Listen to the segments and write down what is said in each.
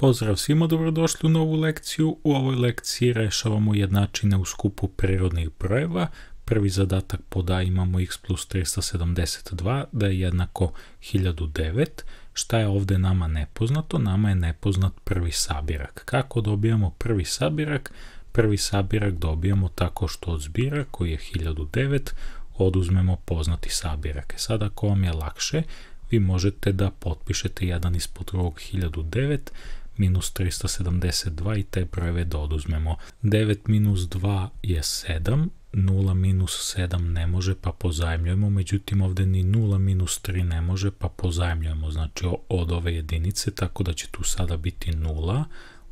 Pozdrav svima, dobrodošli u novu lekciju. U ovoj lekciji rešavamo jednačine u skupu prirodnih brojeva. Prvi zadatak pod A imamo x plus 372 da je jednako 1009. Šta je ovde nama nepoznato? Nama je nepoznat prvi sabirak. Kako dobijamo prvi sabirak? Prvi sabirak dobijamo tako što od zbira koji je 1009 oduzmemo poznati sabirak. Sad ako vam je lakše, vi možete da potpišete jedan ispod drugog 1009 minus 372 i te brojeve da oduzmemo. 9 minus 2 je 7, 0 minus 7 ne može pa pozajmljujemo, međutim ovde ni 0 minus 3 ne može pa pozajmljujemo, znači od ove jedinice, tako da će tu sada biti 0,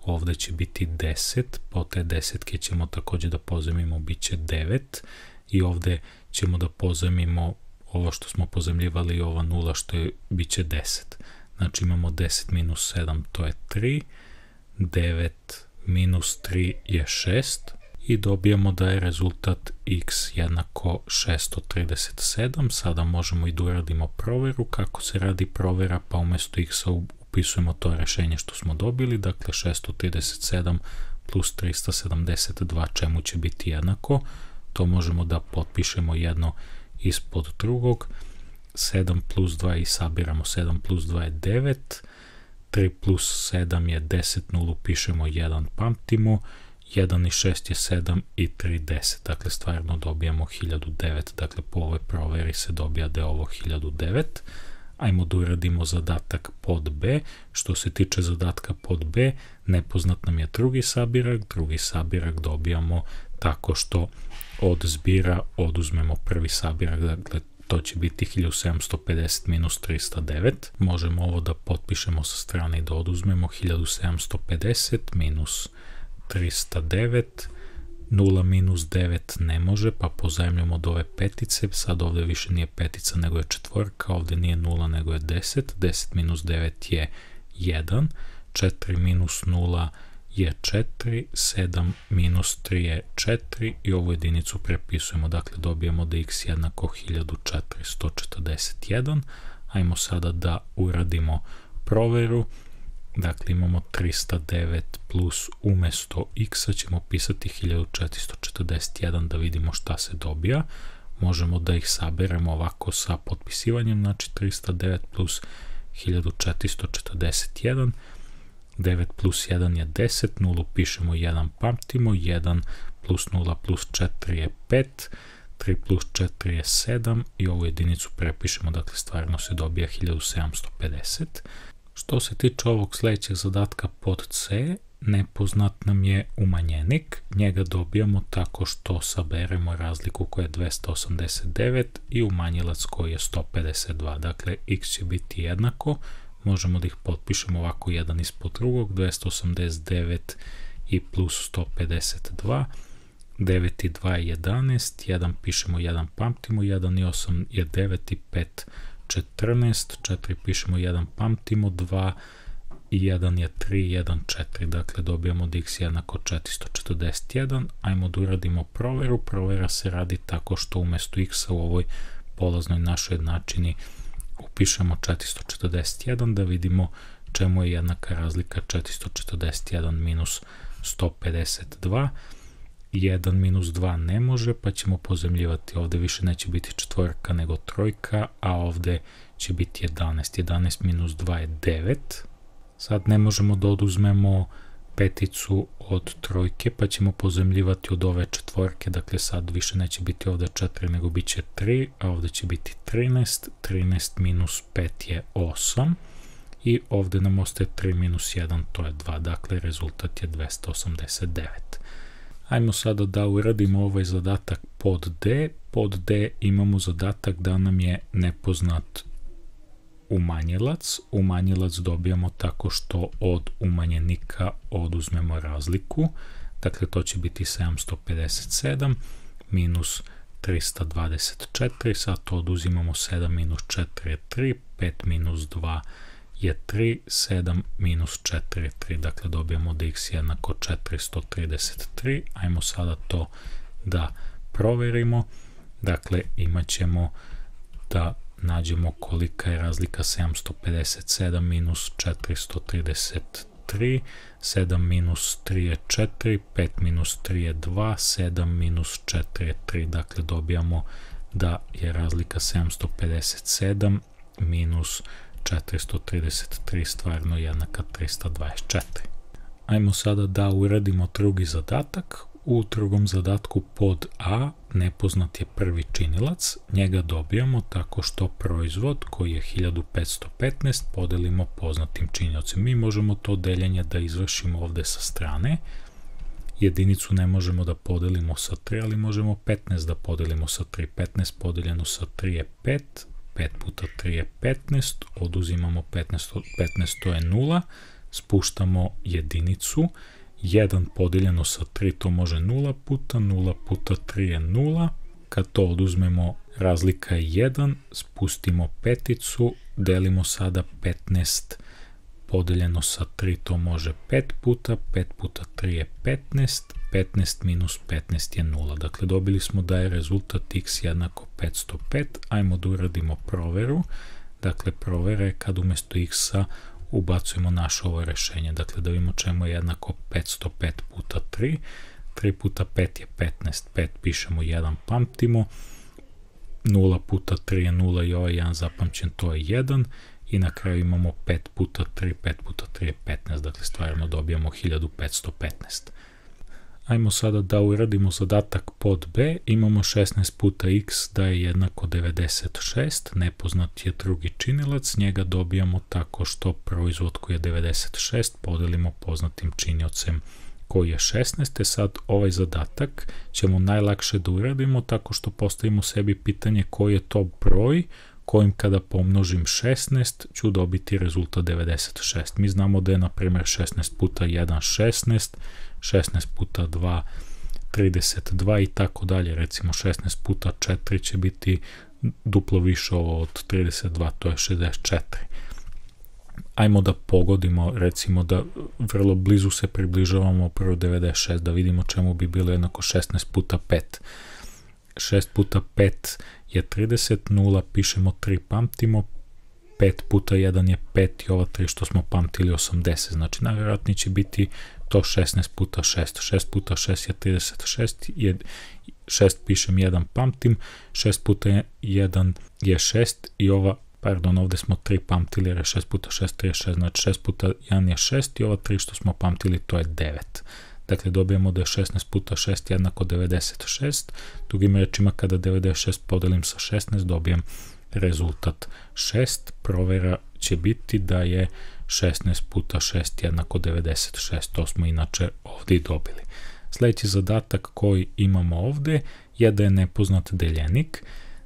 ovde će biti 10, po te desetke ćemo takođe da pozajmimo, bit će 9 i ovde ćemo da pozajmimo ovo što smo pozajmljivali i ova 0 što je, bit će 10. Znači imamo 10 minus 7, to je 3, 9 minus 3 je 6 i dobijamo da je rezultat x jednako 637. Sada možemo i da uradimo proveru. Kako se radi provera? Pa umesto x-a upisujemo to rešenje što smo dobili, dakle 637 plus 372 čemu će biti jednako. To možemo da potpišemo jedno ispod drugog. 7 plus 2 i sabiramo 7 plus 2 je 9, 3 plus 7 je 10, 0 pišemo 1, pamtimo, 1 i 6 je 7 i 3 10, dakle stvarno dobijamo 1009, dakle po ovoj proveri se dobija da je ovo 1009. Ajmo da uradimo zadatak pod B. Što se tiče zadatka pod B, nepoznat nam je drugi sabirak dobijamo tako što od zbira oduzmemo prvi sabirak, dakle to će biti 1750 minus 309. Možemo ovo da potpišemo sa strane i da oduzmemo 1750 minus 309. 0 minus 9 ne može, pa pozajmljamo od ove petice. Sad ovde više nije petica nego je četvorka, ovde nije 0 nego je 10. 10 minus 9 je 1. 4 minus 0 je 4, 7 minus 3 je 4 i ovu jedinicu prepisujemo, dakle dobijemo da x jednako 1441. Ajmo sada da uradimo proveru, dakle imamo 309 plus umesto x-a ćemo pisati 1441 da vidimo šta se dobija. Možemo da ih saberemo ovako sa potpisivanjem, znači 309 plus 1441, 9 plus 1 je 10, 0 pišemo 1, pamtimo, 1 plus 0 plus 4 je 5, 3 plus 4 je 7 i ovu jedinicu prepišemo, dakle stvarno se dobija 1750. Što se tiče ovog sledećeg zadatka pod C, nepoznat nam je umanjenik, njega dobijamo tako što saberemo razliku koja je 289 i umanjilac koji je 152, dakle x će biti jednako, možemo da ih potpišemo ovako jedan ispod drugog, 289 i plus 152, 9 i 2 je 11, 1 pišemo 1, pamtimo, 1 i 8 je 9 i 5, 14, 4 pišemo 1, pamtimo, 2 i 1 je 3, 1, 4, dakle dobijamo da x jednako 441, ajmo da uradimo proveru, provera se radi tako što umesto x-a u ovoj polaznoj našoj jednačini upišemo 441 da vidimo čemu je jednaka razlika 441 minus 152. 1 minus 2 ne može, pa ćemo pozemljivati. Ovde više neće biti četvorka nego trojka, a ovde će biti 11. 11 minus 2 je 9. Sad ne možemo da oduzmemo peticu od trojke, pa ćemo pozemljivati od ove četvorke, dakle sad više neće biti ovde 4 nego bit će 3, a ovde će biti 13, 13 minus 5 je 8 i ovde nam ostaje 3 minus 1, to je 2, dakle rezultat je 289. Ajmo sada da uradimo ovaj zadatak pod D. Pod D imamo zadatak da nam je nepoznat umanjilac. Umanjilac dobijamo tako što od umanjenika oduzmemo razliku. Dakle, to će biti 757 minus 324. Sad to oduzimamo 7 minus 4 je 3, 5 minus 2 je 3, 7 minus 4 je 3. Dakle, dobijamo da x jednako 433. Ajmo sada to da proverimo. Dakle, imat ćemo da nađemo kolika je razlika 757 minus 433. 3, 7 minus 3 je 4, 5 minus 3 je 2, 7 minus 4 je 3, dakle dobijamo da je razlika 757 minus 433 stvarno jednaka 324. Ajmo sada da uradimo drugi zadatak. U drugom zadatku pod A nepoznat je prvi činilac, njega dobijamo tako što proizvod koji je 1515 podelimo poznatim činiocem. Mi možemo to deljenje da izvršimo ovde sa strane, jedinicu ne možemo da podelimo sa 3, ali možemo 15 da podelimo sa 3, 15 podeljeno sa 3 je 5, 5 puta 3 je 15, oduzimamo 15, to je 0, spuštamo jedinicu, 1 podeljeno sa 3 to može 0 puta 3 je 0, kad to oduzmemo razlika je 1, spustimo peticu, delimo sada 15 podeljeno sa 3 to može 5 puta 3 je 15, 15 minus 15 je 0. Dakle, dobili smo da je rezultat x jednako 505. Ajmo da uradimo proveru. Dakle, provera je kad umjesto x-a ubacujemo naše ovo rešenje. Dakle, da vidimo čemu je jednako 505 puta 3. 3 puta 5 je 15. 5 pišemo 1, pamtimo. 0 puta 3 je 0 i ovaj 1 zapamćen, to je 1. I na kraju imamo 5 puta 3, 5 puta 3 je 15, dakle stvarno dobijamo 1515. Ajmo sada da uradimo zadatak pod B, imamo 16 puta x da je jednako 96, nepoznat je drugi činilac, njega dobijamo tako što proizvod koji je 96 podelimo poznatim činiocem koji je 16, sad ovaj zadatak ćemo najlakše da uradimo tako što postavimo sebi pitanje koji je to broj kojim kada pomnožim 16 ću dobiti rezultat 96. Mi znamo da je na primjer 16 puta 1 16, 16 puta 2 32 i tako dalje. Recimo 16 puta 4 će biti duplo više od 32, to je 64. Ajmo da pogodimo, recimo da vrlo blizu se približavamo prvo 96, da vidimo čemu bi bilo jednako 16 puta 5. 6 puta 5 je 30, 0 pišemo 3, pamtimo, 5 puta 1 je 5 i ova 3 što smo pamtili 80, znači najvjerojatnije će biti to 16 puta 6, 6 puta 6 je 36, 6 pišem 1, pamtim, 6 puta 1 je 6 i ova, pardon, ovde smo 3 pamtili jer je 6 puta 6, 36, znači 6 puta 1 je 6 i ova 3 što smo pamtili to je 9. Dakle, dobijemo da je 16 puta 6 jednako 96. Drugim rečima, kada 96 podelim sa 16, dobijem rezultat 6. Provera će biti da je 16 puta 6 jednako 96. To smo inače ovdje i dobili. Sljedeći zadatak koji imamo ovdje je da je nepoznat deljenik.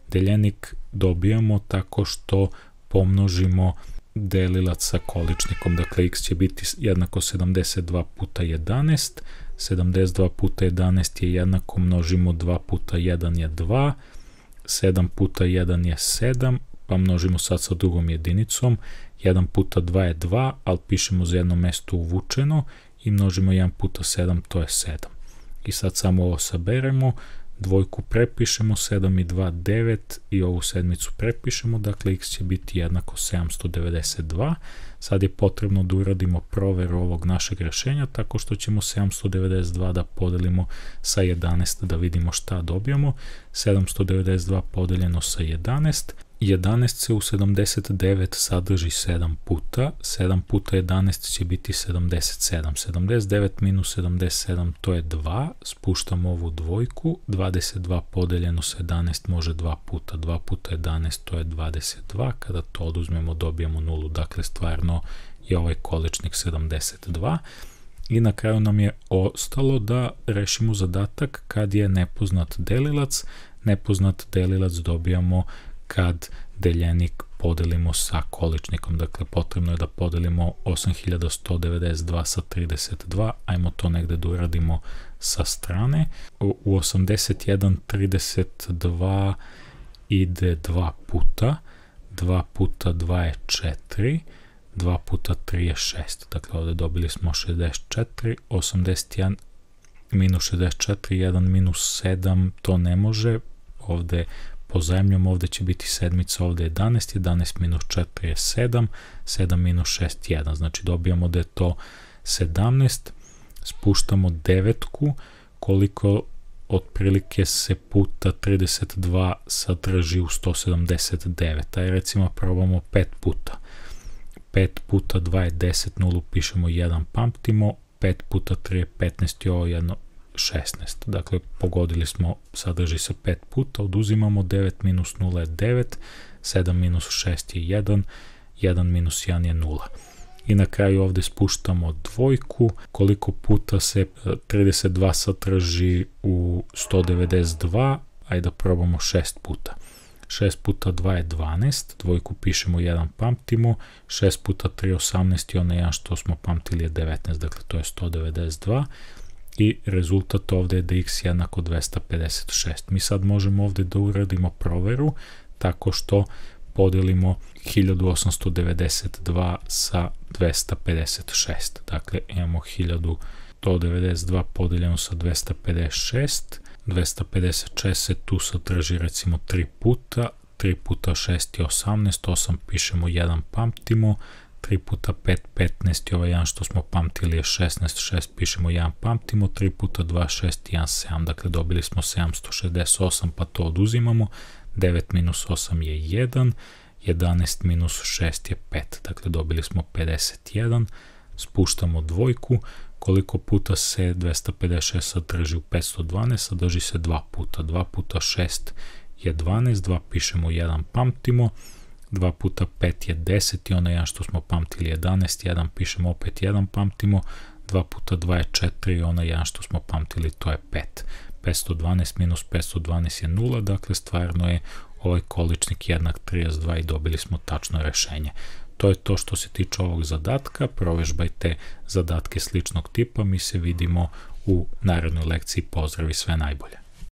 Deljenik dobijamo tako što pomnožimo delilac sa količnikom, dakle x će biti jednako 72 puta 11, 72 puta 11 je jednako, množimo 2 puta 1 je 2, 7 puta 1 je 7, pa množimo sad sa drugom jedinicom, 1 puta 2 je 2, ali pišemo za jedno mesto uvučeno i množimo 1 puta 7, to je 7. I sad samo ovo saberemo, dvojku prepišemo, 7 i 2, 9 i ovu sedmicu prepišemo, dakle x će biti jednako 792. Sad je potrebno da uradimo proveru ovog našeg rešenja tako što ćemo 792 da podelimo sa 11 da vidimo šta dobijamo. 792 podeljeno sa 11, 11 se u 79 sadrži 7 puta, 7 puta 11 će biti 77, 79 minus 77 to je 2, spuštamo ovu dvojku, 22 podeljeno sa 11 može 2 puta, 2 puta 11 to je 22, kada to oduzmemo dobijemo 0, dakle stvarno je ovaj količnik 72. I na kraju nam je ostalo da rešimo zadatak kad je nepoznat delilac. Nepoznat delilac dobijamo kad deljenik podelimo sa količnikom, dakle potrebno je da podelimo 8192 sa 32, ajmo to negde da uradimo sa strane. U 8132 ide 2 puta, 2 puta 2 je 4, 2 puta 3 je 6, dakle ovdje dobili smo 64, 81 minus 64, 1 minus 7, to ne može, ovdje pozajemljom, ovdje će biti sedmica, ovdje je 11, 11 minus 4 je 7, 7 minus 6 je 1, znači dobijamo da je to 17, spuštamo devetku, koliko otprilike se puta 32 sadrži u 179, aj recimo probamo 5 puta. 5 puta 2 je 10, 0 pišemo 1, pamtimo, 5 puta 3 je 15 i ovo jedno 16. Dakle, pogodili smo, sadrži se 5 puta, oduzimamo 9 minus 0 je 9, 7 minus 6 je 1, 1 minus 1 je 0. I na kraju ovdje spuštamo dvojku, koliko puta se 32 sadrži u 192, ajde da probamo 6 puta. 6 puta 2 je 12, dvojku pišemo 1, pamtimo, 6 puta 3 je 18 i onaj 1 što smo pamtili je 19, dakle to je 192 i rezultat ovdje je da x jednako 256. Mi sad možemo ovdje da uradimo proveru tako što podelimo 1892 sa 256. Dakle, imamo 1192 podeljeno sa 256. 256 se tu sadrži recimo 3 puta. 3 puta 6 je 18. 8 pišemo 1, pamtimo. 3 puta 5, 15 i ovaj 1 što smo pamtili je 16. 6 pišemo 1, pamtimo. 3 puta 2, 6 i 1, 7. Dakle, dobili smo 768 pa to oduzimamo. 9 minus 8 je 1, 11 minus 6 je 5, dakle dobili smo 51, spuštamo dvojku, koliko puta se 256 sadrži u 512, sadrži se 2 puta, 2 puta 6 je 12, 2 pišemo 1, pamtimo, 2 puta 5 je 10 i onaj 1 što smo pamtili je 11, 1 pišemo opet 1, pamtimo, 2 puta 2 je 4 i onaj 1 što smo pamtili to je 5. 512 minus 512 je 0, dakle stvarno je ovaj količnik jednak 32 i dobili smo tačno rešenje. To je to što se tiče ovog zadatka, provežbajte zadatke sličnog tipa, mi se vidimo u narednoj lekciji, pozdrav i sve najbolje.